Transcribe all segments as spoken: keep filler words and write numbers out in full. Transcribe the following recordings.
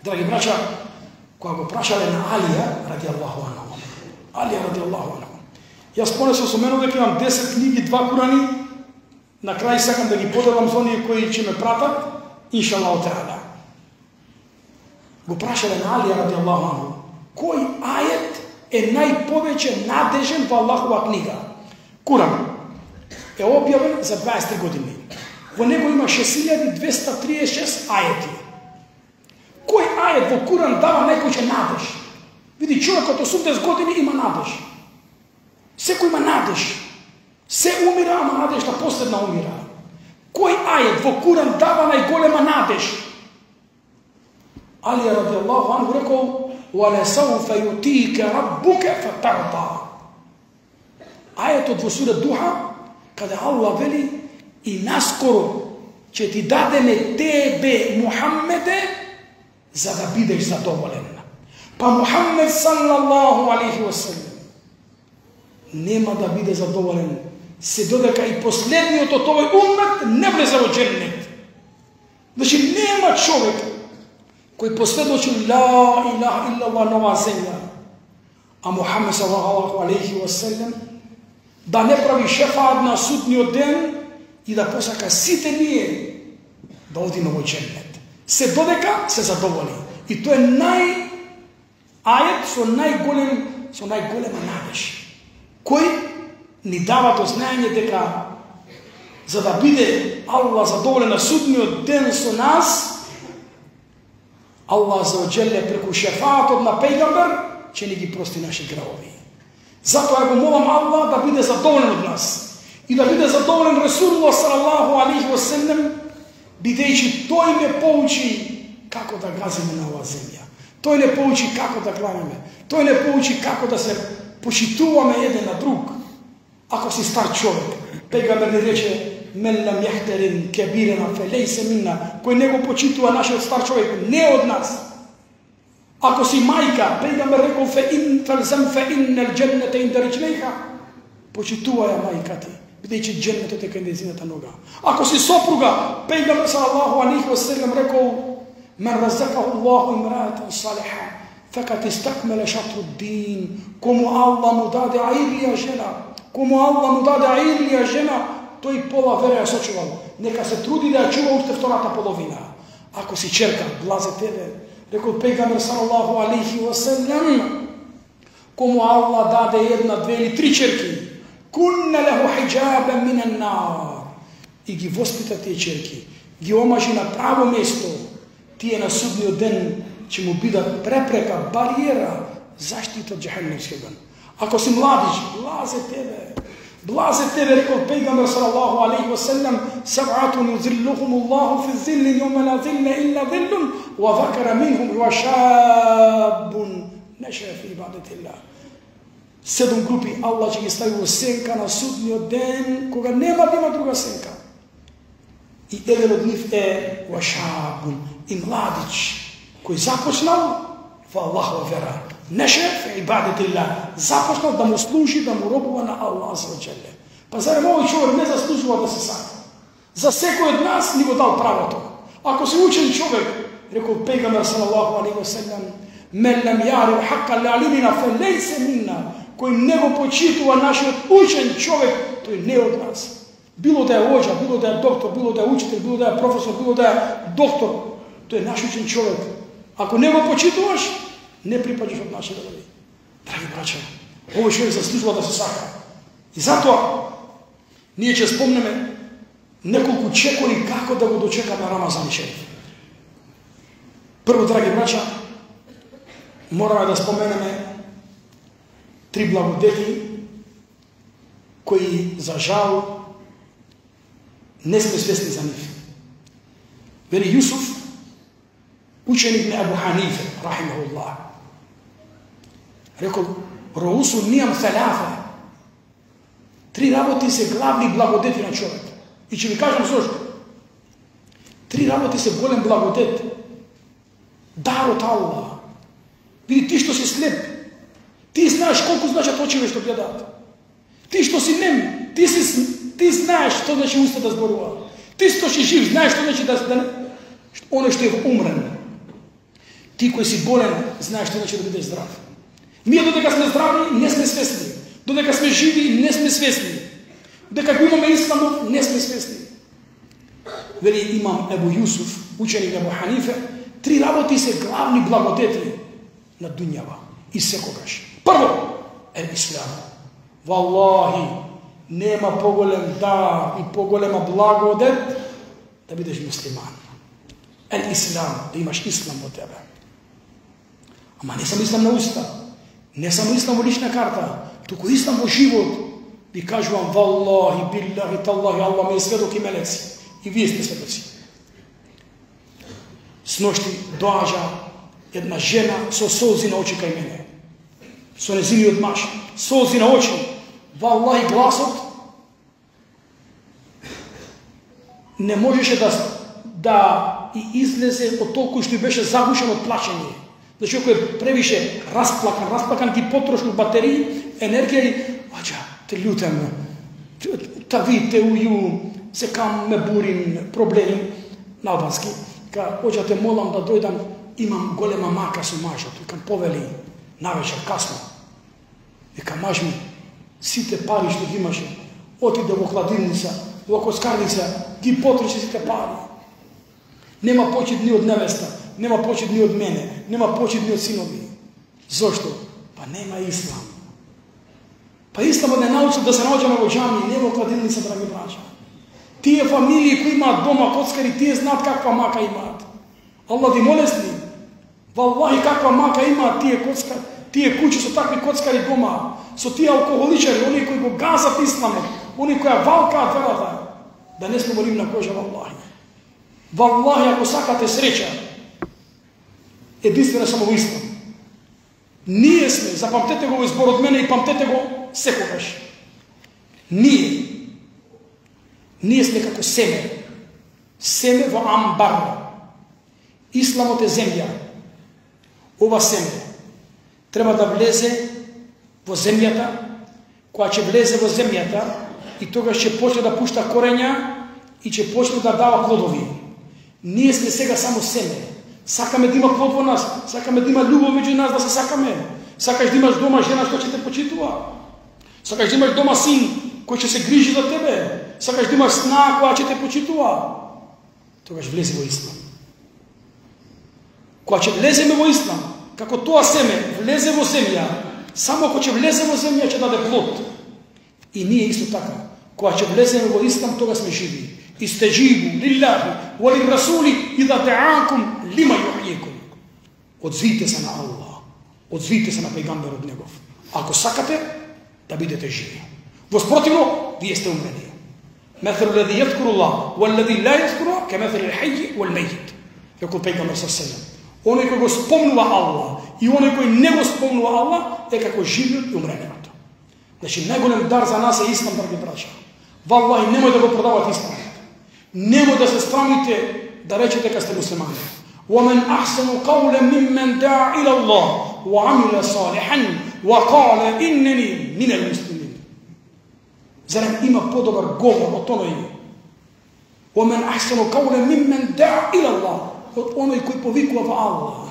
Драги браќа, кога го прашале на Алија ради Аллаху анху. Алија ради Аллаху анху. Јас понесо со мене дека имам десет книги, два Курани. На крај сакам да ги поделам со оние кои ќе ме пратат, иншаллаху таала. Го прашале на Алија ради Аллаху анху, кој ајет е најповеќе надежен во Аллахова книга? Куран е објавен за дваесет три години. Во него има шест илјади двеста триесет и шест ајети. Кој ајет во Куран дава најповеќе надеж? Види, човекот осумдесет години има надеж. Секој има надеж. Се умира, ама надежта последна умира. Кој ајет во Куран дава најголема надеж? Алија радијаллаху анху рекол: وَلَسَوْفَ يُؤْتِيكَ رَبُّكَ فَتَرْضَى. Ајетот во сура Духа, каде Аллах вели: и наскоро ќе ти дадеме тебе, Мухаммеде, за да бидеш задоволен. Па Мухаммед саллаллаху алейхи ва салем нема да биде задоволен се додека и последниот од овој уммет не влезе во џеннет. Значи нема човек кој посведочи ла илаха иллаллах на оваа земја, а Мухаммед саллаллаху алейхи ва салем да не прави шефаат на судниот ден и да посака сите ние да одиме во џеннет. Се додека се задоволи. И тоа е нај ајет со најголем со најголема надеж, кој ни дава до знаење дека за да биде Аллах задоволен на судниот ден со нас, Аллах за оџеле преку шефаатот на пејгамбер ќе ни ги прости наши гревови. Затоа го молам Аллах да биде задоволен од нас и да биде задоволен Расулуллах салаллаху алейхи ва салем, бидејќи тој ме поучи како да газиме на оваа земја. Тој не поучи како да кланеме. Тој не поучи како да се почитуваме еден на друг. Ако си стар човек, пејгамбер ни рече: "Мен лам јахтерин кебирена фелейсе минна", кој не го почитува нашиот стар човек, не од нас. Ако си мајка, пејгамбер рекол: "Фе ин фалзам фе иннал џеннете инда риџлейха", почитувај мајка ти, бидејќи џеннетот е кај нејзината нога. Ако си сопруга, пејгамбер салаллаху алейхи ва салем рекол: "Мен разакаху Аллаху имраатан салиха, фекат истакмеле шатру дин", кому Аллах му даде аирлија жена, кому Аллах му даде аирлија жена, тој пола вера ја сочувал. Нека се труди да ја чува уште втората половина. Ако си черка, блазе тебе, рекол пејгамбер салаллаху алейхи ва салем, кому Аллах даде една, две или три черки, кунна леху хиджабен минен нар, и ги воспита тие черки, ги омажи на право место, тие на судниот ден ќе му бидат препрека, бариера, заштита од џехеннемскиот оган. Ако си младиш, блазе тебе, блазе тебе, рекол пејгамбер салаллаху алейхи ва салем: "Саб'атун юзиллухум Аллаху фи зилли јаума ла зилла илла зиллун, ва закара минхум ва шабун наша фи ибадатилlah." Седум групи Аллах ќе ги стави во сенка на судниот ден, кога нема да има друга сенка. И еден од нив е ва шабун, и младич, кој започнал во Аллахова вера, неше фи ибадатилlah, започнал да му служи, да му робува на Аллах азza ва џеле. Па зарем овој човек не заслужува да се сака? За секој од нас ни го дал правото. Ако си учен човек, рекол пејгамбер салаллаху алейхи ва салем: "Мен лам јариф хакка л'алимина фелейсе минна", кој не го почитува нашиот учен човек, тој не од нас. Било да е оџа, било да е доктор, било да е учител, било да е професор, било да е доктор, тој е наш учен човек. Ако не го почитуваш, не припаѓаш од нашите редови. Драги браќа, овој човек заслужува да се сака. И затоа ние ќе спомнеме неколку чекори како да го дочекаме Рамазан шериф. Прво, драги браќа, мораме да споменеме три благодети кои за жал не сме свесни за нив. Вели Јусуф, ученик на Абу Ханифе, рахимахуллах, рекол: "Роусу нијам салафа", три работи се главни благодети на човек. И ќе ви кажам зошто. Три работи се голем благодет. Дар од Аллах. Види, ти што си слеп, ти знаеш колку значат очиме што гледаат. Ти што си нем, ти си ти знаеш што значи уста да зборува. Ти што си жив, знаеш што значи да да оно што е умрен. Ти кој си болен, знаеш што значи да бидеш здрав. Ние додека сме здрави, не сме свесни. Додека сме живи, не сме свесни. Дека го имаме исламот, не сме свесни. Вели имам Ебу Јусуф, ученик Ебу Ханифе, три работи се главни благодети на дуњава и секогаш. Прво, е ислам. Валлахи, нема поголем дар и поголема благодет да бидеш муслиман. Е ислам, да имаш ислам во тебе. Ама не само ислам на уста, не само ислам во лична карта, туку ислам во живот. Ви кажувам, валлахи, биллахи, таллахи, Аллах ме е сведок и мелеци. И вие сте сведоци. Сношти доаѓа една жена со солзи на очи кај мене. Со незиниот маж, солзи на очи. Валлахи, гласот не можеше да, да и излезе од толку што беше загушен од плачење. Значи, ако е превише расплакан, расплакан ги потрошил батерии, енергија и аđа, те љутем, та ви те ују, се кам ме бурим проблеми на албански. Ка, оđа те молам да дојдам, имам голема мака со мажот. Викам, повели, навечер, касно. Викам, маж ми, сите пари што ги имаше, отиде во хладилница, во коскарница, ги потреше сите пари. Нема почит ни од невеста, нема почит ни од мене, нема почит ни од синови. Зошто? Па нема ислам. Па исламот не научил да се наоѓаме во џами, не во кладилница, драги браќа. Тие фамилии кои имаат дома коцкари, тие знаат каква мака имаат. Аллах ви молести. Валлахи каква мака имаат тие коцкари, тие куќи со такви коцкари дома, со тие алкохоличари, оние кои го газат исламот, оние кои валкаат верата. Да не сме молим на кожа, валлахи. Валлахи, ако сакате среќа, единствено само во ислам. Ние сме, запамтете го во избор од мене и памтете го секогаш. Ние, ние сме како семе. Семе во амбар. Исламот е земја. Ова семе треба да влезе во земјата, која ќе влезе во земјата и тогаш ќе почне да пушта корења и ќе почне да дава плодови. Ние сме сега само семе. Сакаме да има плод во нас, сакаме да има љубов меѓу нас, да се сакаме. Сакаш да имаш дома жена што ќе те почитува. Сакаш да имаш дома син кој ќе се грижи за тебе. Сакаш да имаш сна која ќе те почитува. Тогаш влезе во ислам. Кога ќе влеземе во ислам, како тоа семе влезе во земја, само кога ќе влезе во земја ќе даде плод. И ние исто така, кога ќе влеземе во ислам, тога сме живи. Истеджибу лиллахи ва лиррасули идha дa'акум лима юхјикум. Одзвите се на Аллах, одзвите се на пејгамберот негов. Ако сакате да бидете живи. Воспротивно, вие сте умрени. Мефелу леди јадкуру Аллах, ва леди ла јадкуру, ке мефелу лхаји вал мејит. Рекол пејгамбер саллаллаху. Оној кој го спомнува Аллах и оној кој не го спомнува Аллах е како живиот и умрениот. Значи, најголем дар за нас е ислам, драги браќа. Валлахи, немој да го продавате ислам. Немој да се срамите да речете дека сте муслимани. وَمَنْ أَحْسَنُ قَوْلًا مِمَّنْ دَعَا إِلَى اللَّهِ وَعَمِلَ صَالِحًا وَقَالَ إِنَّنِي مِنَ الْمُسْلِمِينَ. Зарем има подобар говор од оној? وَمَنْ أَحْسَنُ قَوْلًا مِمَّنْ دَعَا إِلَى اللَّهِ, од оној кој повикува во Аллах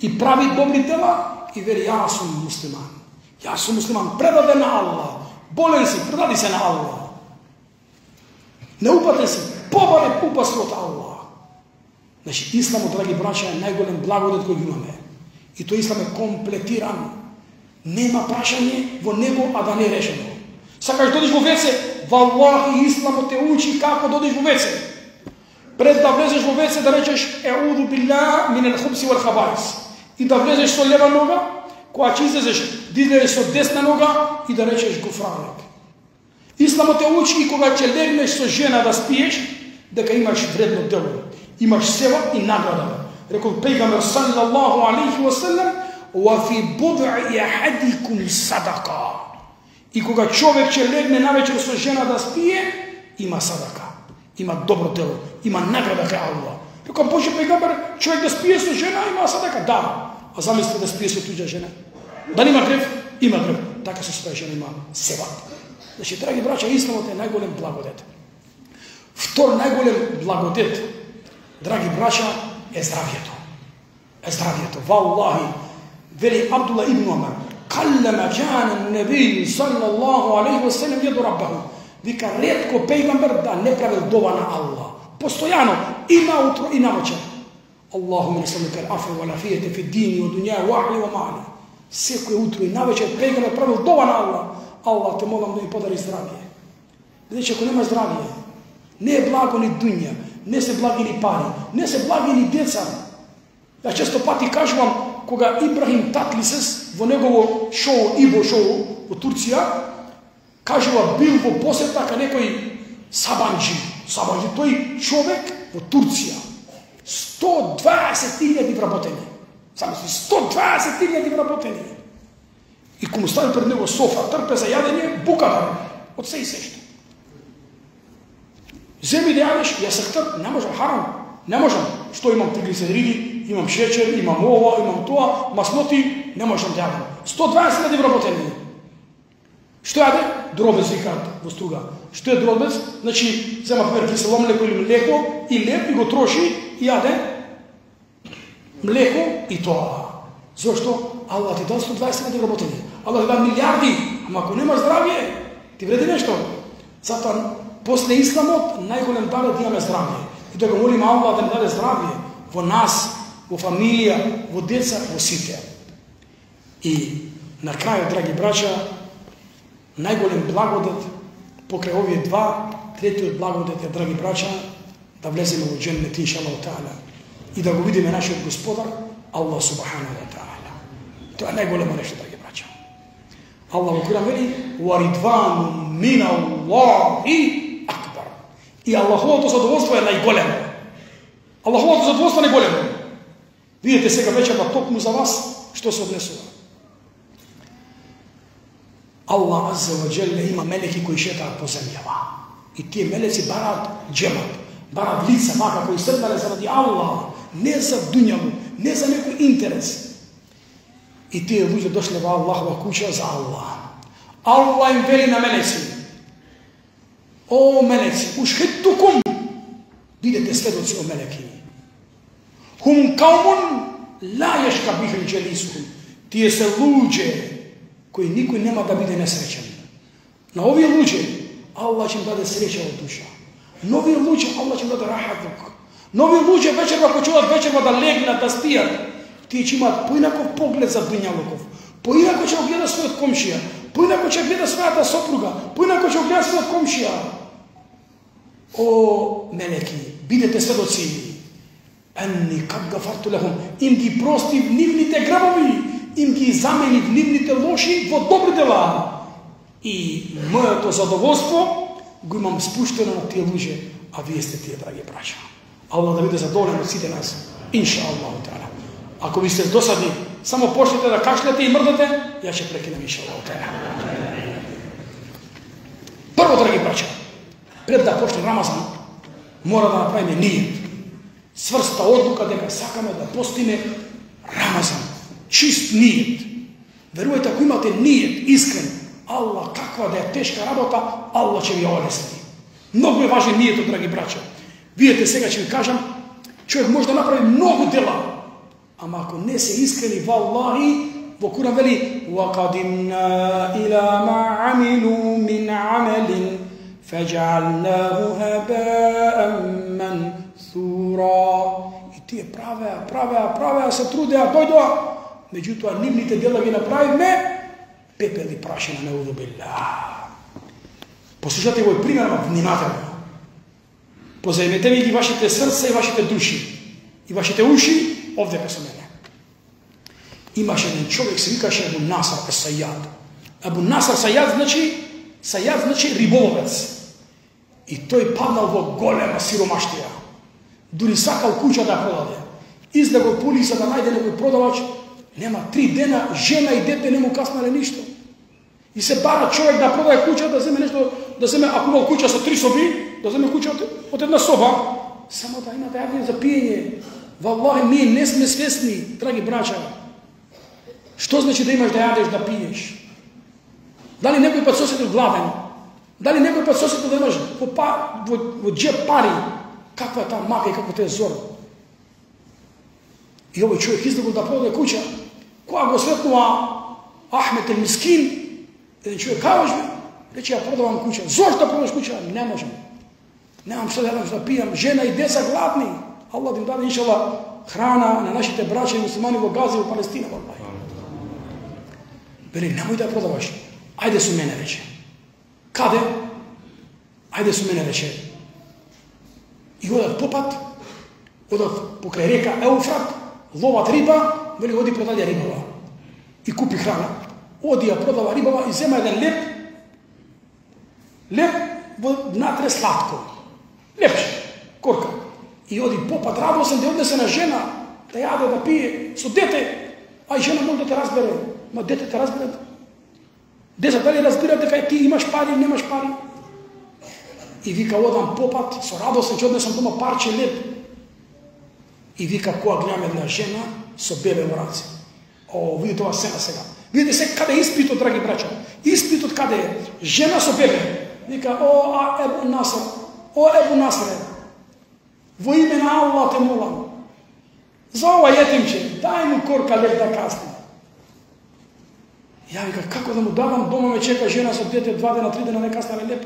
и прави добри дела и вели, јас сум муслиман. Јас сум муслиман, предаден на Аллах. Болен си, предади се на Аллах. Неупатен си, побаре упаси од Аллах. Значи, исламот, драги браќа, е најголем благодет кој имаме. И тој ислам е комплетиран. Нема прашање во него, а да не е решено. Сакаш додиш во веце, валлахи, исламот те учи како додиш во веце. Пред да влезеш во веце, да речеш еуду билlah мин ал-хубси вал хабаис. И да влезеш со лева нога, кога ќе излезеш, да излезеш со десна нога и да речеш гуфранек. Исламот те учи и кога ќе легнеш со жена да спиеш, дека имаш вредно дело. Имаш сева и награда. Рекол пејгамбер саллаллаху алейхи ва саллам, "Ва фи буд'i ahadikum садака." И кога човек ќе легне навечер со жена да спие, има садака. Има добро дело, има награда кај Аллах. Рекол Божи пејгамбер, човек да спие со жена има садака. Да. А замисли да спие со туѓа жена. Да нема грев? Има грев. Така со своја жена има сева. Значи, драги браќа, исламот е најголем благодет. Втор најголем благодет, драги браќа, е здравјето. е здравието. Валлахи, вели Абдулла ибн Умар, каллама кана небију саллаллаху алейхи ва салем јаду раббаху. Вика, ретко пејгамбер да не правил дова на Аллах. Постојано, и наутро, и навечер. Аллахуме несалука ал-афу вал афијете фи дини ва дуња ва ахли ва мали. Секој утро и навечер пејгамбер правил дова на Аллах. Аллах, те молам да ми подари здравие. Бидејќи ако нема здравие, не е благо ни дуња, не се благи ни пари, не се благи ни деца. Ја често пати кажувам, кога Ибрахим Татлисес во негово шоу, Ибо шоу во Турција, кажува бил во посета ка некој Сабанджи. Сабанджи, тој човек во Турција. сто дваесет илјади вработени. Замисли, сто дваесет илјади вработени. И кому стави пред него софа, трпе за јадење, бука да од се и сешто. Земи да јадеш, ја сехтар, не можам, харам, не можам. Што имам триглицериди, имам шеќер, имам ова, имам тоа, масноти, не можам да јадам. сто дваесет илјади вработени. Што јаде? Дробец викаат во Струга. Што е дробец? Значи, зема пример кисело млеко или млеко и леп и го троши и јаде млеко и тоа. Зошто? Аллах ти дал сто дваесет илјади вработени. Аллах ти дал милиарди, ама ако немаш здравје, ти вреди нешто. Затоа, после исламот, најголем дар е да имаме здравје. И да го молим Аллах да ни даде здравје во нас, во фамилија, во деца, во сите. И на крај, драги браќа, најголем благодет покрај овие два, третиот благодет е, драги браќа, да влеземе во џеннет иншаллаху таала и да го видиме нашиот Господар Аллах субханаху ва таала. Тоа е најголемо нешто, драги браќа. Аллах во Куран вели: "Ва ридвану мин Аллахи акбар." И Аллаховото задоволство е најголемо. Аллаховото задоволство е најголемо. Видите сега вечерва токму за вас што се однесува. Аллах азza ва џелле има мелеки кои шетаат по земјава. И тие мелеци бараат џемат, бараат лица вака кои седнале заради Аллах, не за дуњаву, не за некој интерес. И тие луѓе дошле во Аллахова куќа за Аллах. Аллах им вели на мелеци: "О мелеци, ушхиттукум, бидете сведоци, о мелеки. Хум каумун ла јешка бихим џелисухум." Тие се луѓе кои никој нема да биде несреќен. На овие луѓе Аллах ќе им даде среќа од душа. На овие луѓе Аллах ќе им даде рахатук. На овие луѓе вечерва кои ќе одат вечерва да легнат, да спијат, тие ќе имаат поинаков поглед за дуњалуков. Поинако ќе го гледа својот комшија, поинако ќе гледа својата сопруга, поинако ќе го гледа својот комшија. О мелеки, бидете сведоци. Анни кад гафарту лехум, им ги простив нивните гребови, им ги заменив нивните лоши во добри дела. И моето задоволство го имам спуштено на тие луѓе, а вие сте тие, драги браќа. Аллах да биде задоволен од сите нас, инша Аллаху таала. Ако ви сте досадни, само почнете да кашлете и мрдате, ја ќе прекинем, инша Аллаху таала. Прво, драги браќа, пред да почне Рамазан, мора да направиме нијет. Сврста одлука дека сакаме да постиме Рамазан. Чист нијет. Верувајте, ако имате нијет, искрен, Аллах, каква да е тешка работа, Аллах ќе ви олесни. Многу е важен нијетот, драги браќа. Видете, сега ќе ви кажам, човек може да направи многу дела, ама ако не се искрени, валлахи, во Куран вели: "Вaqadimna ila ma amilu min amalin faj'alnahu haba'an mansura." И тие правеа, правеа, правеа, се трудеа, дојдоа, меѓутоа нивните дела ги направивме пепел и прашина, неуду билlah. Послушате овој пример внимателно. Позајмете ми ги вашите срца и вашите души и вашите уши овде кај со мене. Имаше еден човек, се викаше Абу Наср ес-Сајад. Абу Наср Сајад значи, Сајад значи риболовец. И тој паднал во голема сиромаштија. Дури сакал куќа да продаде. Излегол по улица да најде некој продавач, нема три дена, жена и дете не му каснале ништо. И се бара човек да продаде куќа, да земе нешто, да земе, ако имал куќа со три соби, да земе куќа од една соба, само да има да јаде за пиење. Валлахи, ние не сме свесни, драги браќа. Што значи да имаш да јадеш, да пиеш? Дали некој пат сосетил гладен? Дали некој пат сосетил да имаш во, во, во джеп пари? Каква е таа мака и како те е зор? И овој човек излегол да продаде куќа. Кога го сретнува Ахмет ел Мискин, еден човек кажеш ми, рече, ја продавам куќа. Зошто да продаш куќа? Не можам. Немам што да јадам, што да пијам, жена и деца гладни. Аллах да им даде иншалла храна на нашите браќа и муслимани во Газа и во Палестина. Вели, немој да ја продаваш. Ајде со мене, рече. Каде? Ајде со мене, рече. И одат по пат, одат покрај река Еуфрат, ловат риба, вели, оди продаде рибава. И купи храна. Оди ја продава рибава и зема еден леп, леп во натре сладко. Лепче, корка. И оди попат радосен да однесе на жена, да јаде, да пие, со дете, а и жена може да те разбере. Ма дете те разбере. Деца дали разбира дека ти имаш пари или немаш пари? И вика, одам попат, со радосен ќе однесам дома парче леп. И вика, која гледам една жена со бебе во раце. О, видите ова сцена сега. Видите се каде е испитот, драги браќа. Испитот каде е? Жена со бебе. Вика, о, а, Ебу Наср, о, Ебу Наср, во име на Аллах те молам. За ова јетимче, дај му корка леп да касни. Ја вика, како да му давам, дома ме чека жена со дете, два дена, три дена, не касна леп.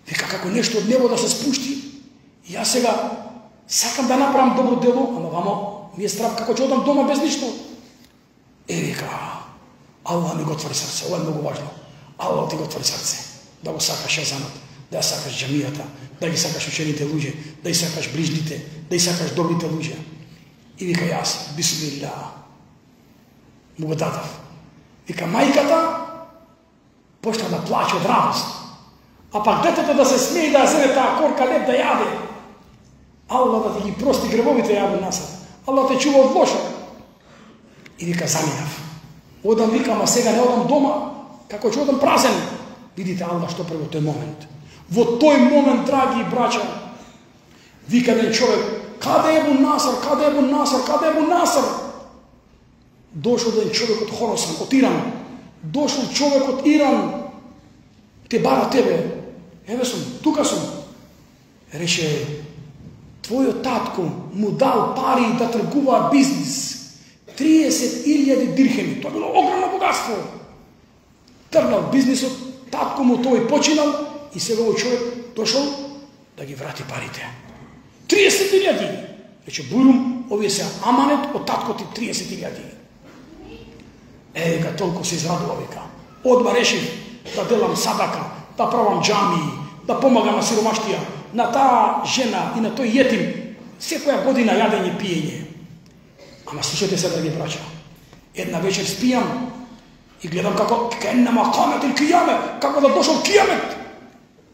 Вика, како нешто од небо да се спушти. И јас сега сакам да направам добро дело, ама вамо ми е страв како ќе одам дома без ништо. Е, вика, Аллах ми го отвори срце, ова е многу важно. Аллах ти го отвори срце, да го сакаш езанот, да ја сакаш џамијата, да ги сакаш учените луѓе, да ги сакаш ближните, да ги сакаш добрите луѓе. И вика, јас, бисмилlah, му го дадав. Вика, мајката почна да плаче од радост. А пак детето да се смее да ја зеде таа корка леп да јаде. Аллах да ти ги прости гревовите, Ебу Наср. Аллах те чува од лошо. И вика, заминав. Одам, викам, а сега не одам дома, како ќе одам празен. Видите, Аллах што прави во тој момент. Во тој момент, драги браќа, вика еден човек, каде е Ебу Наср, каде е Ебу Наср, каде е Ебу Наср? Дошол еден човек од Хорасан, од Иран. Дошол човек од Иран, те бара тебе. Еве сум, тука сум. Рече, твојот татко му дал пари да тргува бизнис. триесет илјади дирхеми. Тоа било огромно богатство. Тргнал бизнисот, татко му тој починал и сега овој човек дошол да ги врати парите. триесет илјади. Рече, бурум, овие се аманет од татко ти триесет илјади. Е, вика, толку се израдува, вика. Одма решив да делам садака, да правам џамии, да помагам на сиромаштија, на таа жена и на тој јетим, секоја година јадење, пиење. Ама слушате се, драги браќа, една вечер спијам и гледам како кеннама камет или кијамет, како да дошол кијамет.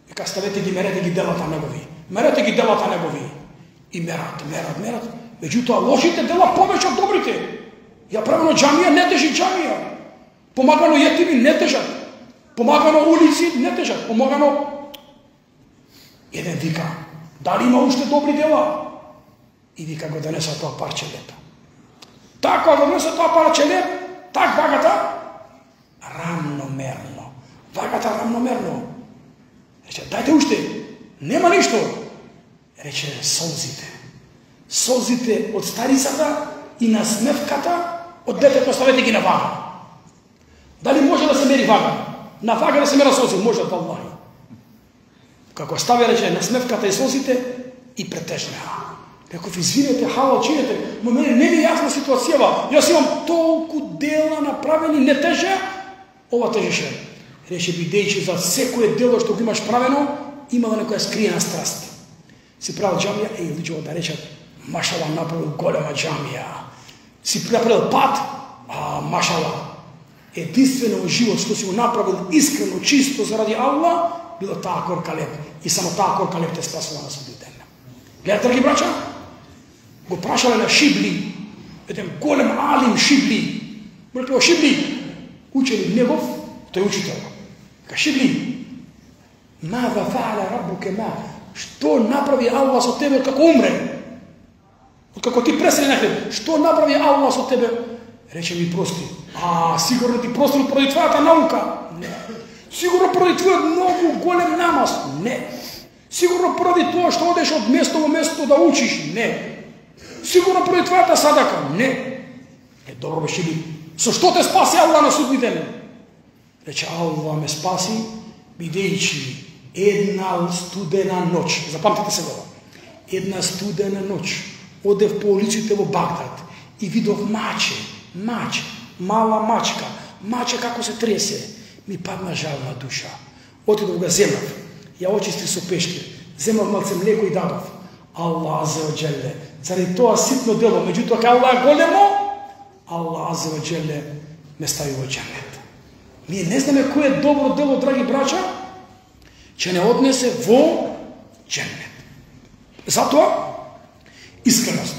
Вика, ставете ги, мерете ги делата негови, мерете ги делата негови. И мерат, мерат, мерат. Меѓутоа, лошите дела повеќе од добрите. Ја правено џамија, не тежи џамија. Помагано јетими, не тежат. Помагано улици, не тежат. Помагано... Еден вика, дали има уште добри дела? И вика, го донеса тоа парче леп. Така го донеса тоа парче леп, так вагата, рамномерно. Вагата рамномерно. Рече, дајте уште, нема ништо. Рече, солзите. Солзите од старицата и насмевката од детето ставете ги на вага. Дали може да се мери вага? На вага да се мера солзи, може да Аллах. Како стави, рече, насмевката и солзите и претежнеа. Реков, извинете, хала, чинете, но мене не ми е јасна ситуацијава. Јас имам толку дела направени, не теже, ова тежеше. Рече, бидејќи за секое дело што го имаш правено, имала некоја скриена страст. Си правил џамија, еј, луѓето да речат, машала, направил голема џамија. Си направил пат, а машала. Единствено во живот што си го направил искрено, чисто заради Аллах, било таа корка леп. И само таа корка леп те спасува на судниот ден. Гледате, драги браќа? Го прашале на Шибли, еден голем алим Шибли. Му рекло, Шибли, учени негов, тој учител. Ка Шибли, мада фаала рабуке ма? Што направи Аллах со тебе како умре? Како ти пресели на хлеб, што направи Аллах со тебе? Рече ми прости. А, сигурно ти простил поради твојата наука? Не. Сигурно поради твојот многу голем намаз? Не. Сигурно поради тоа што одеш од место во место да учиш? Не. Сигурно поради твојата садака. Не. Е, добро беше ли? Со што те спаси Аллах на судни ден? Рече, Аллах ме спаси, бидејќи една студена ноќ. Запамтите се го. Една студена ноќ. Одев по улиците во Багдад и видов маче, маче, мала мачка, маче како се тресе. Ми падна жална душа. Отидов го земав, ја очисти со пешки, земав малце млеко и дадов. Аллах азza wa jalla, заради тоа ситно дело, меѓутоа кај Аллах големо, Аллах азza wa jalla ме стави во џенет. Ние не знаме кој е добро дело, драги браќа, че не однесе во џенет. Затоа искреност.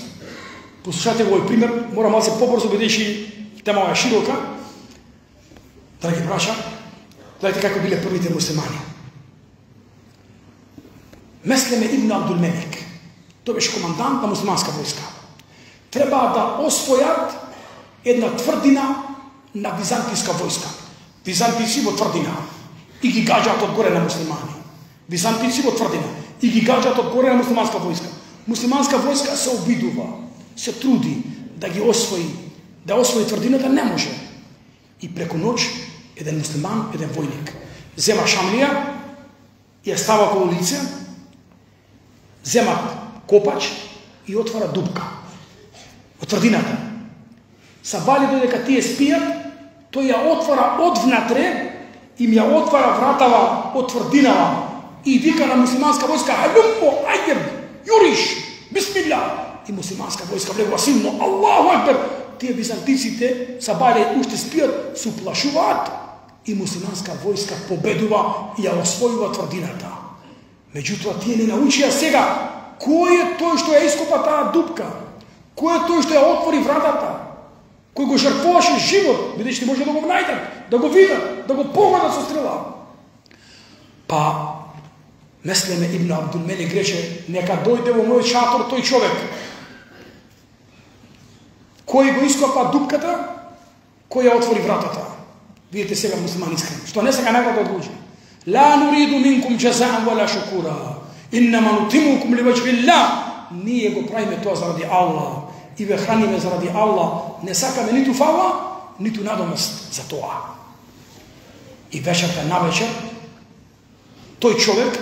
Послушате го овој пример, мора малце побрзо, бидејќи темава е широка. Драги браќа, гледайте како биле првите муслимани. Меслеме ибн Абдул Мелик, тој беше командант на муслиманска војска. Треба да освојат една тврдина на византијска војска. Византици во тврдина и ги гаѓаат одгоре на муслимани. Византици во тврдина и ги гаѓаат одгоре на муслиманска војска. Муслиманска војска се обидува, се труди да ги освои, да освои тврдината, не може. И преку ноќ еден муслиман, еден војник, зема шамлија и ја става околу лице, зема копач и отвара дупка од тврдината. Сабали додека тие спијат, тој ја отвара одвнатре, им ја отвара вратава од тврдинава и вика на муслиманска војска: "Халуммо, ајдем, юриш, бисмилла." И муслиманска војска влегува силно: "Аллаху акбар." Тие византиците сабали уште спијат, се уплашуваат и муслиманска војска победува и ја освојува тврдината. Меѓутоа тие не научија сега кој е тој што ја ископа таа дупка, кој е тој што ја отвори вратата, кој го жртвуваше живот, бидејќи може да го најдат, да го видат, да го погодат со стрела. Па Меслеме ибн Абдул Мелик рече: "Нека дојде во мојот шатор тој човек кој го ископа дупката, кој ја отвори вратата." Видите сега муслимани искрен, што не сега награда од луѓе. "Ла нуриду минкум џазаан вала шукура, иннама нутимукум ливаџхи ЛЛАＨ." Ние го правиме тоа заради Аллах и ве храниме заради Аллах, не сакаме ниту фала, ниту надомест за тоа. И вечерта навечер тој човек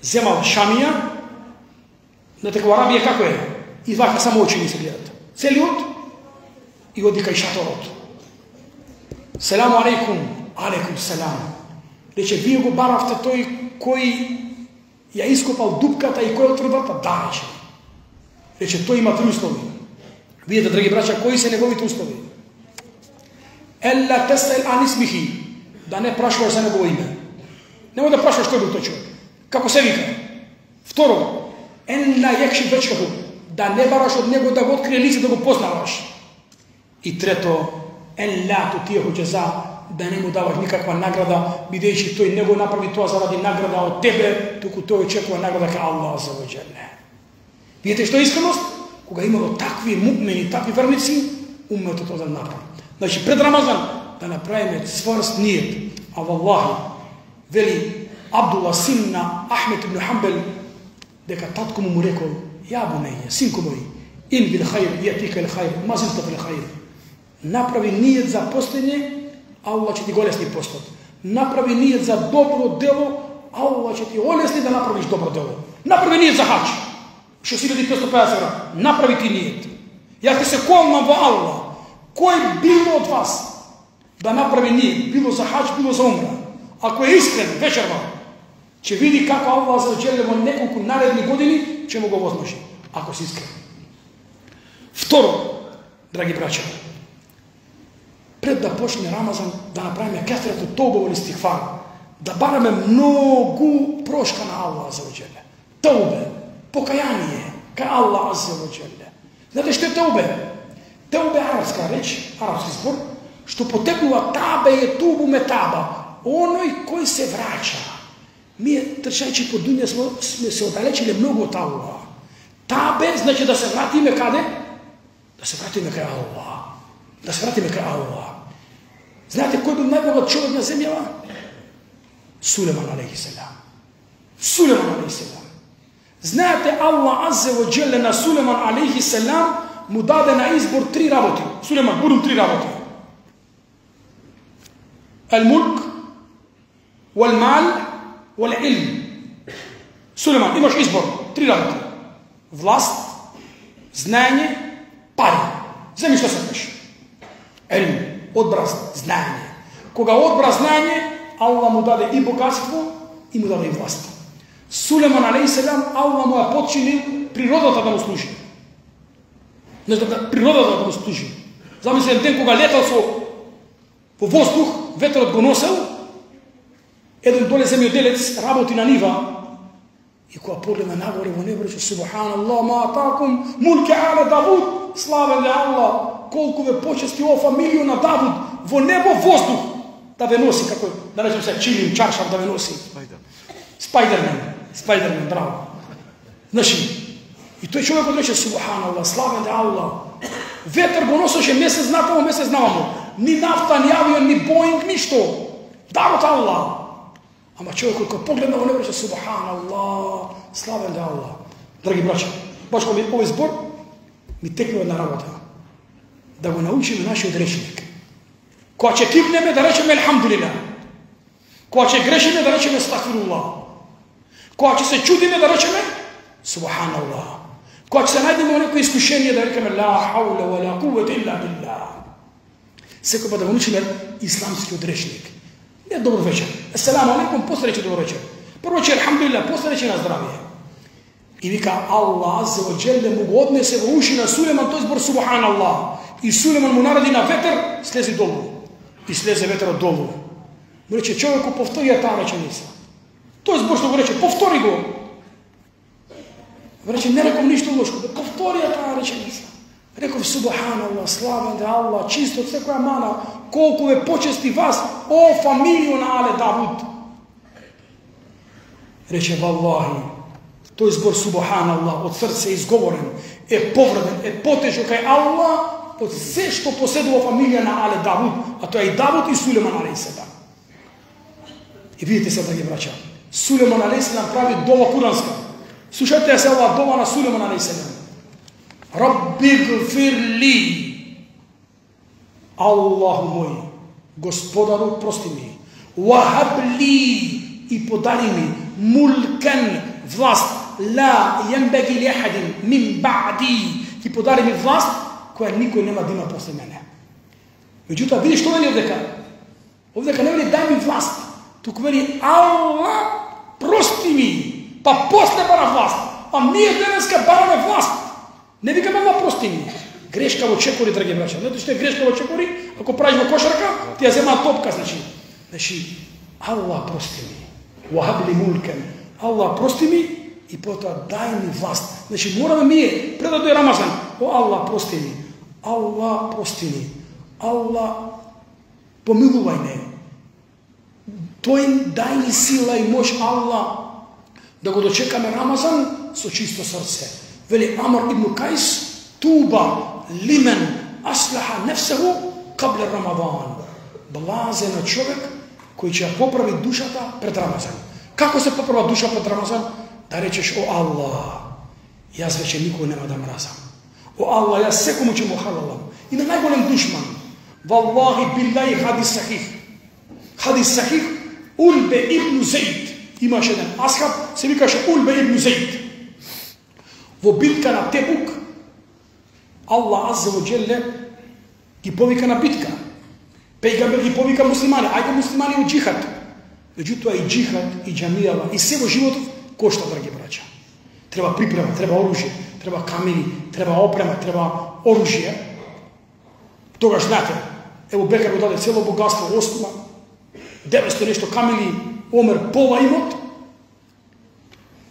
земал шамија, знаете во Арабија како е, извака само очи ни се гледат, целиот, и оди кај шаторот. "Селаму алейкум." "Алейкум селам." Рече: "Вие го баравте тој кој ја ископал дупката и кој отвори врата?" "Да." Рече. Рече: "Тој има три услови." Видете, драги браќа, кои се неговите услови? "Елла тесел ан исмихи." Да не прашуваш за негово име. Немој да прашуваш кој бил тој човек, како се вика. Второ, "Ен ла јекши вечкаху." Да не бараш од него да го открие лице, да го познаваш. И трето, "Ен ла тутиеху џаза." Да не му даваш никаква награда, бидејќи тој не го направи тоа заради награда од тебе, туку тој очекува награда кај Аллах азza wa jalla. Видите што е искреност? Кога имало такви муъмини, такви верници, умметот тоа да направи. Значи пред Рамазан да направиме цврст ниет. А валлахи, вели Абдулла син на Ахмед ибн Хамбел, дека татко му му рекол: "Ја бунеје, синко мој, ин бил хајр јатика ил хајр, ма зилта бил хајр." Направи ниет за постење, Аллах ќе ти го лесни постот. Направи ниет за добро дело, Аллах ќе ти олесни да направиш добро дело. Направи ниет за хаџ, шест илјади и петстотини и пеесет евра. Направи ти ниет. Јас ти се колнам во Аллах, кој било од вас да направи ниет, било за хаџ, било за умра, ако е искрен вечерва, ќе види како Аллах за џеле во неколку наредни години ќе му го возможи, ако си искрен. Второ, драги браќа, пред да почне Рамазан да направиме кефрето тоубе или стигфар, да бараме многу прошка на Аллах азza wa jalla. Тоубе, покаяние кај Аллах азza wa jalla. Знаете што е тоубе? Тоубе е арапска реч, арапски збор, што потекнува табе е тубу метаба, оној кој се враќа. Ние трчајќи по дуња сме, сме се оддалечиле многу од Аллах. Табе значи да се вратиме каде? Да се вратиме кај Аллах. Да се вратиме кај Аллах. Знаете кој бил најбогат човек на земјава? Сулейман алейхи селам. Сулейман алейхи селам. Знаете, Allah Аззе ва Джелле на Сулейман алейхи селам му даде на избор три работи. Сулейман, будем три работи. Ал-мулк, вал-мал, вал-илм. Сулейман, имаш избор. Три работи. Власт, знаење, пари. Земи што сакаш. Илм, одбраз, знаење. Кога одбраз знаење, Allah му даде и богатство, и му даде и власт. Сулейман алейхиселам, Allah му ја подчинил природата да му служи. Не знам, природата да му служи. Замисли ден кога летал со по воздух, ветерот го носел, еден доле земјоделец работи на нива, и кога погледна нагоре во небо, рече Субханаллах, ма атакум мулке але Давуд, славен е Allah, колку ве почести ова фамилија на Давуд, во небо воздух да ве носи, како да речем се чилим, чаршав да ве носи. Спайдермен, Спайдермен, браво. Значи, и тој човекот рече Субханаллах, славен е Allah. Ветер го носеше месец натамо, месец навамо. Ни нафта, ни авион, ни Боинг, ништо. Дарот Allah. Ама човекот кој погледна во небо рече Субханаллах, славен е Allah. Драги браќа, баш кога ми овој збор ми текне една работа. Да го научиме нашиот речник. Кога ќе кипнеме да речеме Елхамдулилlah. Кога ќе грешиме да речеме Астагфируллах. Кога ќе се чудиме да речеме Субханаллах. Кога ќе се најдеме во некој искушение да рекеме Ла хаула ва ла куввета илла билlah. Секој да го научиме исламскиот речник. Не добро вечер. Ассаламу алейкум, после рече добро вечер. Прво рече Елхамдулилlah, после рече на здравие. И вика Allah Аззе ва Джелле му го однесе во уши на Сулейман тој збор Субханаллах. И Сулейман му нареди на ветер, слези долу. И слезе ветерот долу. Му рече човеку, повтори ја таа реченица. Тој збор што го рече, повтори го. Му рече, не реком ништо лошо, да повтори ја таа реченица. Реков Субханаллах, славен е Allah, чисто од секоја мана, колку ве почести вас, о фамилију на Але Давуд. Рече, валлахи, тој збор Субханаллах од срце изговорен, е повреден, е потежок кај Allah, од се што поседува фамилија на Але Давуд, а тоа е и Давуд и Сулейман алейхиселам. И видите се, драги браќа, Сулейман алейхиселам прави дова куранска. Слушајте се ова дова на Сулейман алейхиселам. Рабби гфир ли, Аллаху мој, Господару, прости ми, вахаб ли, и подари ми, мулкен, власт, ла јенбеги ли ахадин, мин баъди, и подари ми власт, која никој нема да има после мене. Меѓутоа, види што вели овдека? Овдека не вели дај ми власт, туку вели Аллах, прости ми, па после бара власт. А ние денеска бараме власт. Не викаме Аллах, прости ми. Грешка во чекори, драги браќа. Знаете што е грешка во чекори? Ако правиш во кошарка, ти ја земаат топка, значи. Значи, Аллах, прости ми. Вахаб ли мулкен. Аллах, прости ми и потоа дај ми власт. Значи, мораме ние, пред да дојде Рамазан, о Аллах, прости ми. Аллах, прости ми. Аллах, помилувај ме. Тој дај ни сила и мош, Аллах, да го дочекаме Рамазан со чисто срце. Вели Амар ибн Кајс, туба лимен аслаха нефсеху кабле Рамадан. Блазен на човек кој ќе ја поправи душата пред Рамазан. Како се поправа душа пред Рамазан? Да речеш, о Аллах, јас веќе никој нема да мразам. О Аллах, јас секому ќе му халалам. И на најголем душман. Валлахи биллаhi хадис сахих. Хадис сахих, Улбе ибн Зейд. Имаше еден асхаб, се викаше Улбе ибн Зейд. Во битка на Тебук, Аллах Аззе ва Джелле ги повика на битка. Пејгамбер ги повика муслимани, ајде муслимани у джихад. Меѓутоа и джихад, и џамијава, и се во животот кошта, драги браќа. Треба припрема, треба оружје, треба камери, треба опрема, треба оружје. Тогаш знаете, ево Бекар го даде цело богатство, осма, деветсто нешто камили, Омер пола имот.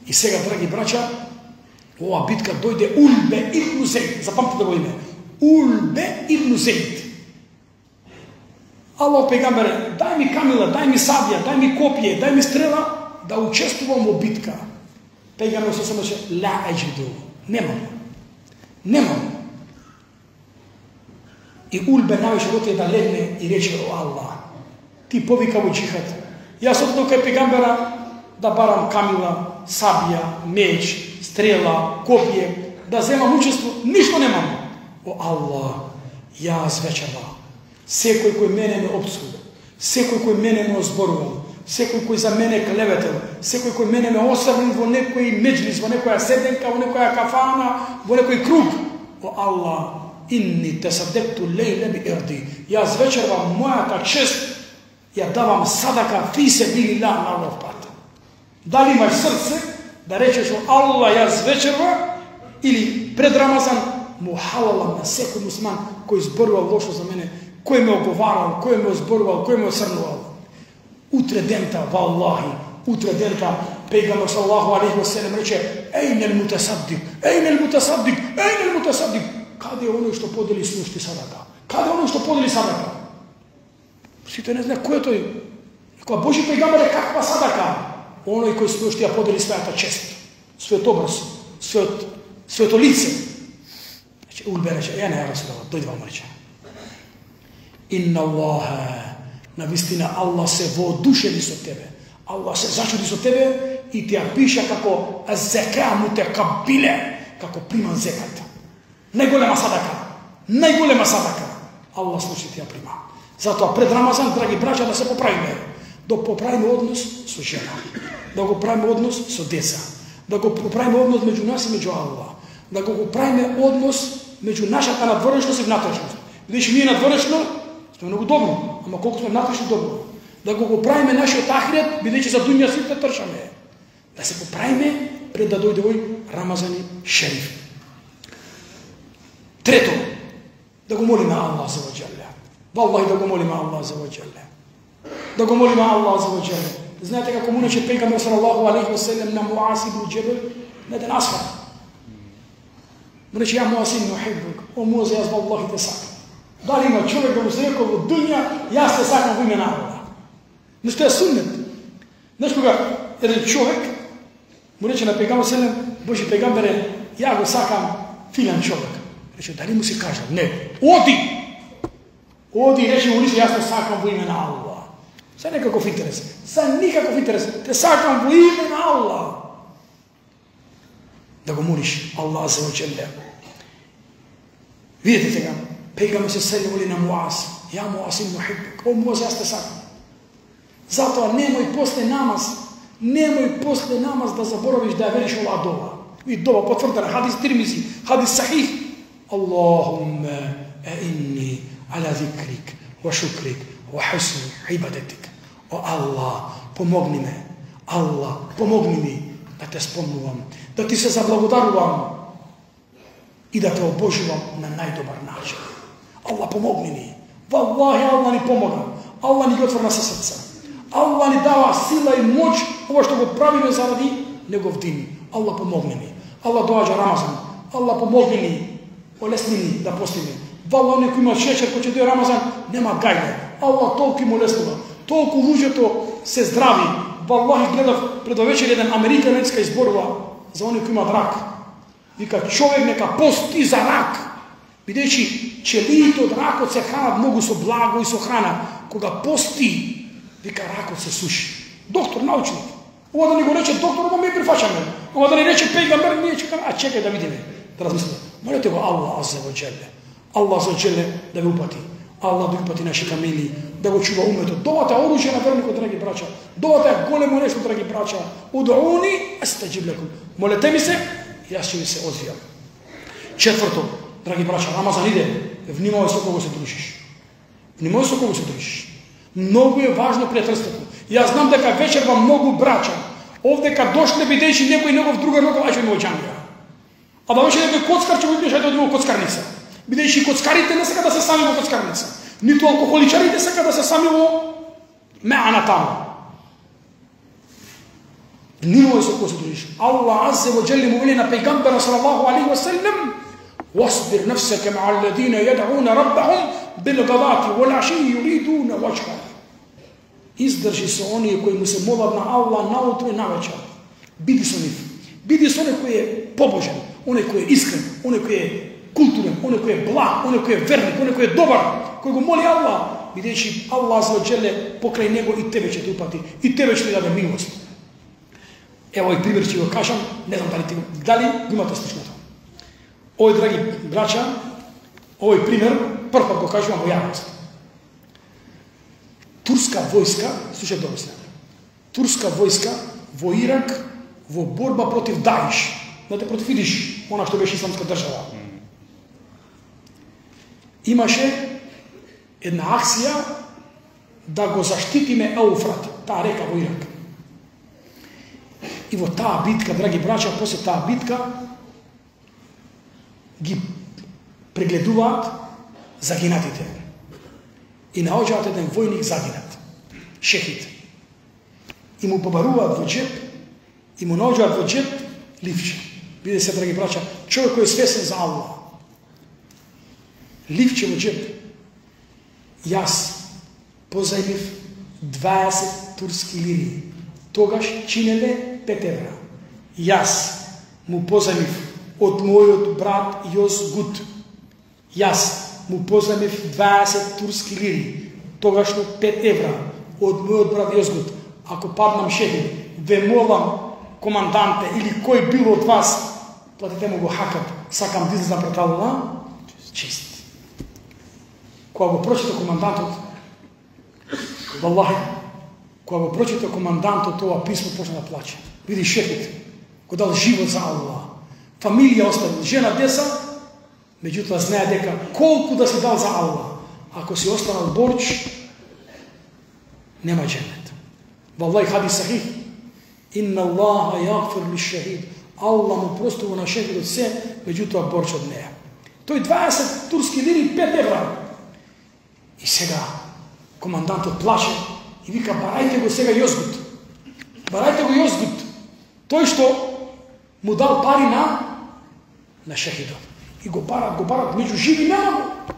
И сега, драги браќа, ова битка дојде Улбе ибн Зейд. Запамтите го име. Улбе ибн Зейд. Аллах пегамбере, дај ми камила, дај ми сабија, дај ми копие, дај ми стрела, да учествувам во битка. Пегамбер се самаше, ла аџиду. Немам. Немам. И Улбе највеќе отиде да легне и рече, о Аллах, ти повика во джихад. Јас отидов кај пегамбера да барам камила, сабија, меч, стрела, копие, да земам учество, ништо немам. О Аллах, јас вечерва, секој кој мене ме опсува, секој кој мене ме озборувал, секој кој за мене клеветел, секој кој мене ме оставил во некој меджлис, во некоја седенка, во некоја кафана, во некој круг. О Аллах, inni tasaddaqtu al-layla bi irdi. Јас вечерва мојата чест ја давам садака фи сабилилlah на Аллах пат. Дали имаш срце да речеш о Аллах јас вечерва или пред Рамазан му халалам на секој мусман кој зборувал лошо за мене, кој ме оговарал, кој ме озборувал, кој ме осрнувал. Утре дента, валлахи, утре дента, пејгамбер саллаллаху алейхи ва селем рече: "Ейнел мутасаддик, ейнел мутасаддик, ейнел мутасаддик." Каде е оној што подели с ношти садака? Каде е оној што подели садака? Сите не знаат кој е тој. Кога Божи пејгамбер е каква садака? Оној кој с ношти ја подели својата чест, својот образ, својот своето лице. Значи улбе рече: "Ја не Расулаллах, дојде вам рече. Инна Аллаха, навистина Аллах се воодушеви со тебе. Аллах се зачуди со тебе и ти ја пиша како зека мутекабиле, како приман зекат. Најголема садака, најголема садака. Аллах слуши ти ја прима. Затоа пред Рамазан, драги браќа, да се поправиме. Да поправиме однос со жена, да го правиме однос со деца, да го поправиме однос меѓу нас и меѓу Аллах, да го поправиме однос меѓу нашата надворешност и внатрешност. Видиш, ние надворешно сме многу добро, ама колку сме внатрешно добро. Да го поправиме нашиот ахирет, бидејќи за дуња сите трчаме. Да се поправиме пред да дојде овој Рамазани шериф. Трето, да го молиме Аллах за ваџале. Валлахи да го молиме Аллах за ваџале. Да го молиме Аллах за ваџале. Знаете како му рече пејгамбер салаллаху алейхи ва селем на Муаз ибн Џебел на еден асхаб. Му рече: "Ја Муаз ибн Ухиббук, о Муаз, јас валлахи те сакам. Дали има човек да му се рекол во дуња, јас те сакам во име на Аллах." Нешто е суннет. Знаеш кога еден човек му рече на пејгамбер селем: "Божи пејгамбере, ја го сакам филан човек." Рече: "Дали му си кажал?" "Не." "Оди!" Оди и рече му лице: "Јас те сакам во име на Аллах." За некаков интерес. За никаков интерес. Те сакам во име на Аллах. Да го молиш Аллах за ваџале. Видите сега, пејгамбер се сели на Муаз: "Ја Муаз ибн Ухиббук, о Муаз, јас те сакам." Затоа немој после намаз, немој после намаз да заборавиш да ја велиш оваа дова. И дова потврдена, хадис Тирмизи, хадис сахих. Аллахумма аинни ала зикрик ва шукрик ва хусни ибадатик. О Аллах, помогни ме. Аллах, помогни ми да те спомнувам, да ти се заблагодарувам и да те обожувам на најдобар начин. Аллах, помогни ни. Валлахи, Аллах ни помога. Аллах ни ги отврна се срца. Аллах ни дава сила и моќ, ова што го правиме заради Негов дин. Аллах, помогни ни. Аллах, доаѓа Рамазан. Аллах, помогни ни. Олесни ни да постиме. Валлах, некој има шеќер, кој ќе дојде Рамазан, нема гајле. Аллах толку им олеснува. Толку луѓето се здрави. Валлахи, гледав пред вечер еден американец кај изборува за оној кој имат рак. Вика: "Човек нека пости за рак, бидејќи челиите од ракот се хранат многу со благо и со храна. Кога пости, вика, ракот се суши." Доктор, научник. Ова да не го рече доктор, ова ме прифаќаме. Ова да не рече пејгамбер, ние чекаме, а чекај да видиме. Да размислиме. Молете го Аллах азза ва џелле. Аллах азза ва џелле да ви упати. Аллах да упати наши фамилии, да го чува умметот. Довата е оружје на верникот, драги браќа. Довата е големо нешто, драги браќа. Удуни астаџиб лакум. Молете ми се, јас ќе ви се одвијам. Четврто, драги браќа, Рамазан иде. Внимавај со кого се дружиш. Внимавај со кого се дружиш. Многу е важно пријателството. Јас знам дека вечерва многу браќа овдека дошле, бидејќи некој негов другар некој ајде во џамија. А да беше некој коцкар ќе го идеш ајде во коцкарница. Бидејќи коцкарите не сака да се сами во коцкарница, ниту алкохоличарите сака да се сами во меана таму. Внимавај со кого се дружиш. Аллах азза ва џелле му вели на пејгамбера салаллаху алейхи ва селем: "Wasbir nafsaka ma'a alladhina yad'una rabbahum bil ghadati wal 'ashi yuriduna wajha." Издржи се оние кои му се молат на Аллах наутро и навечер. Биди со нив. Биди со оној кој е побожен, оној кој е искрен, оној кој е културен, оној кој е благ, оној кој е верник, оној кој е добар, кој го моли Аллах, бидејќи Аллах азза ва џелле покрај него и тебе ќе те упати, и тебе ќе ти даде милост. Ево и пример ќе го кажам, не знам дали ти го, дали го имате слушнато. Овој, драги браќа, овој пример прв пат го кажувам во јавност. Турска војска, слушај добро се. Турска војска во Ирак во борба против Даиш, знаете, против Идиш, она што беше исламска држава. Имаше една акција да го заштитиме Еуфрат, таа река во Ирак. И во таа битка, драги браќа, после таа битка ги прегледуваат загинатите. И наоѓаат еден војник загинат, шехид. И му побаруваат во джеп, и му наоѓаат во джеп ливче. Виде се, драги браќа, човек кој е свесен за Аллах. Ливче во джеп. Јас позајмив дваесет турски лири. Тогаш чинеле пет евра. Јас му позајмив од мојот брат Јозгут. Јас му позајмив дваесет турски лири. Тогашно пет евра од мојот брат Јозгут. Ако паднам шехид, ве молам, команданте или кој бил од вас, платите му го хакат, сакам да излезам пред Аллах, чист. Кога го прочита командантот, валлахи, кога го прочита командантот ова писмо, почна да плаче. Види шефит, го дал живот за Аллах. Фамилија оставил, жена, деца, меѓутоа знае дека колку да си дал за Аллах, ако си останал борч, нема дженет. Валлахи хадис сахих, инна Аллаха јагфир ли шахид. Аллах му простува на шехидот се, меѓутоа борч од неја. Тој дваесет турски лири, пет евра. И сега командантот плаше и вика, барајте го сега Јозгут. Барајте го Јозгут. Тој што му дал пари на на шехидот. И го барат, го барат, меѓу живи нема го.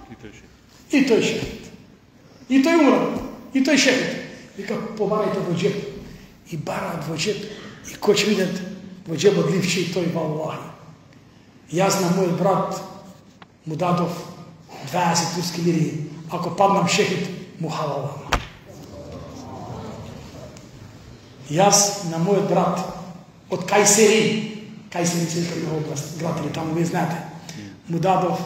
И тој шехид. И тој умрал. И тој шехид. Вика, побарајте во джеп. И барат во джеп. И кој ќе видат во джебот ливче и тој валлахи. Јас на мојот брат му дадов дваесет турски лири. Ако паднам шехид, му халалам. Јас на мојот брат од Кајсери, Кајсери се вика област, град или таму, вие знаете, му дадов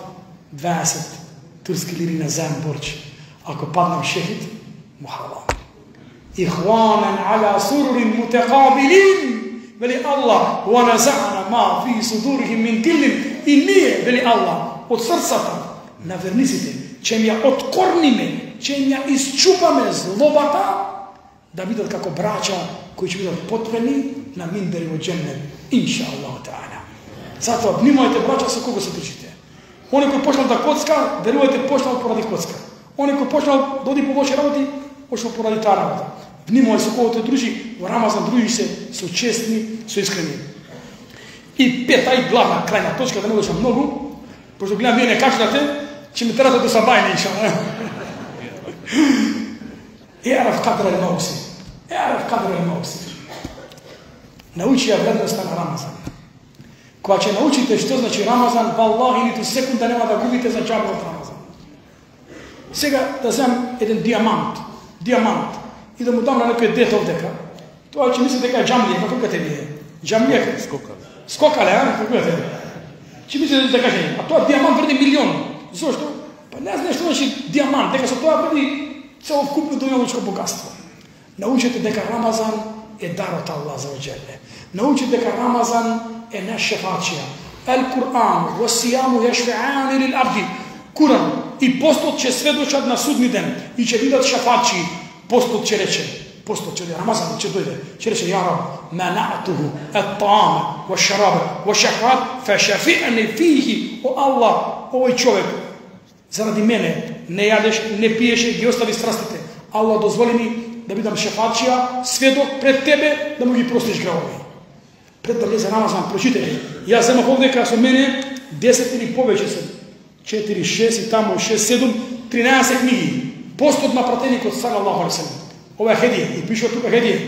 дваесет турски лири на заем борч. Ако паднам шехид, му халалам. Ихванен аля сурурин мутекабилин, вели Аллах, ва наза'на ма фи судурихим мин киллин, и ние, вели Аллах, од срцата на верниците, ќе ја откорниме, ќе ја исчупаме злобата, да бидат како браќа кои ќе бидат потпрени на минбери во џеннет, инша Аллах таala. Затоа внимавајте, браќа, со кого се трчите. Оној кој почнал да коцка, верувајте, почнал поради коцка. Оној кој почнал да оди по лоши работи, почнал поради таа работа. Внимавај со кого те дружи, во Рамазан дружи се со честни, со искрени. И пета и главна крајна точка, да не одам многу, пошто гледам вие не кажете, ќе ме терате до сабајне, иншаллах. Е'риф кадра ал-мавсим. Е'риф кадра ал-мавсим. Научи ја вредноста на Рамазан. Кога ќе научите што значи Рамазан, валлахи ниту секунда нема да губите за џабе од Рамазан. Сега да земам еден диамант, диамант, и да му дам на некој дете овдека, тоа ќе мисли дека е џамлија, како кажете вие? Џамлија? Скокале. Скокале, а? Како кажете? Ќе мисли дека кажете, а тоа диамант вреди милион. Зошто? Па не знаеш што значи диамант, дека со тоа вреди целокупно дуњалучко богатство. Научите дека Рамазан е дар од Аллах за оџеле. Научите дека Рамазан е наш шефачија. Ал-Кур'ан, васијаму јашфе'ани лил абди. Куран и постот ќе сведочат на судни ден и ќе видат шефачи. Постот ќе рече, постот ќе Рамазан ќе дојде, ќе рече ја Раб, манa'tuhu at-ta'ama wash-sharaba wash-shahwat fa-shafi'ni fihi. О Аллах, овој човек заради мене не јадеш, не пиеше, ги остави страстите. Аллах дозволи ми да бидам шефачија, сведок пред тебе, да му ги простиш гревови. Пред да влезе Рамазан, прочитајте. Јас земав овдека со мене десет или повеќе се, четири, шест и тамо шест, седум, тринаесет книги. Постот на пратеникот салаллаху алейхи ва салем. Ова е хедија, и пише тука хедија.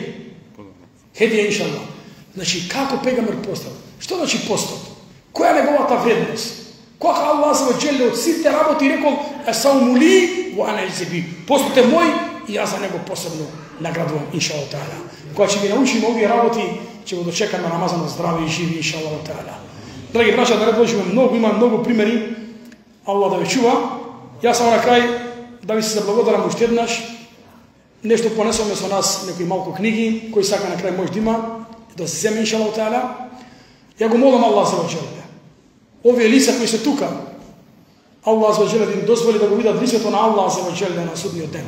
Хедија иншаллах. Значи како пегамбер постот? Што значи постот? Која е неговата вредност? Кога Аллах за ваџеле од сите работи рекол есауму ли во ана ајзи. Постот е мој и јас за него посебно наградувам иншаллах таала. Кога ќе ги научиме овие работи, ќе го дочекаме Рамазан здрави и живи иншаллах таала. Драги браќа, да предложиме многу, има многу примери. Аллах да ве чува. Јас само на крај да ви се заблагодарам уште еднаш. Нешто понесоме со нас некои малку книги, кои сака на крај може да има, да се земе иншаллах таала. Ја го молам Аллах за ваџеле. Овие лица кои се тука, Аллах за ваџеле да им дозволи да го видат лицето на Аллах за ваџеле на судниот ден.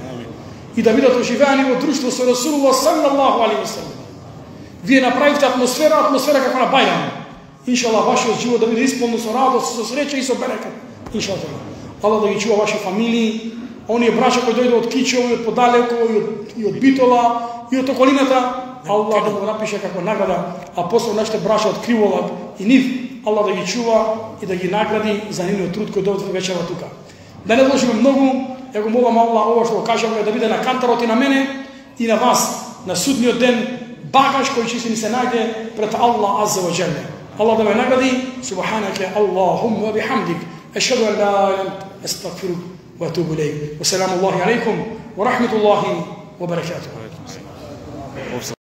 И да бидат оживеани во друштво со Расулуллах саллаллаху алейхи ва саллем. Вие направивте атмосфера, атмосфера како на бајрам. Иншаллах вашиот живот да биде исполнен со радост, со среќа и со берекет. Иншаллах. Аллах да ги чува ваши фамилии, оние браќа кои дојде од Кичево и од подалеку и од, и од Битола и од околината, Аллах да го напише како награда, а после нашите браќа од Криволак и нив, Аллах да ги чува и да ги награди за нивниот труд кој дојде вечера тука. Да не вложиме многу, ја го молам Аллах ова што го кажаме да биде на кантарот и на мене и на вас на судниот ден багаж кој ќе ни се најде пред Аллах азza wa jalla. Allah da me nagradi. Subhanaka Allahumma wa bihamdik. Ashhadu an la ilaha illa anta astaghfiruka wa atubu ilayk. Wa salamu alaykum wa rahmatullahi wa barakatuh.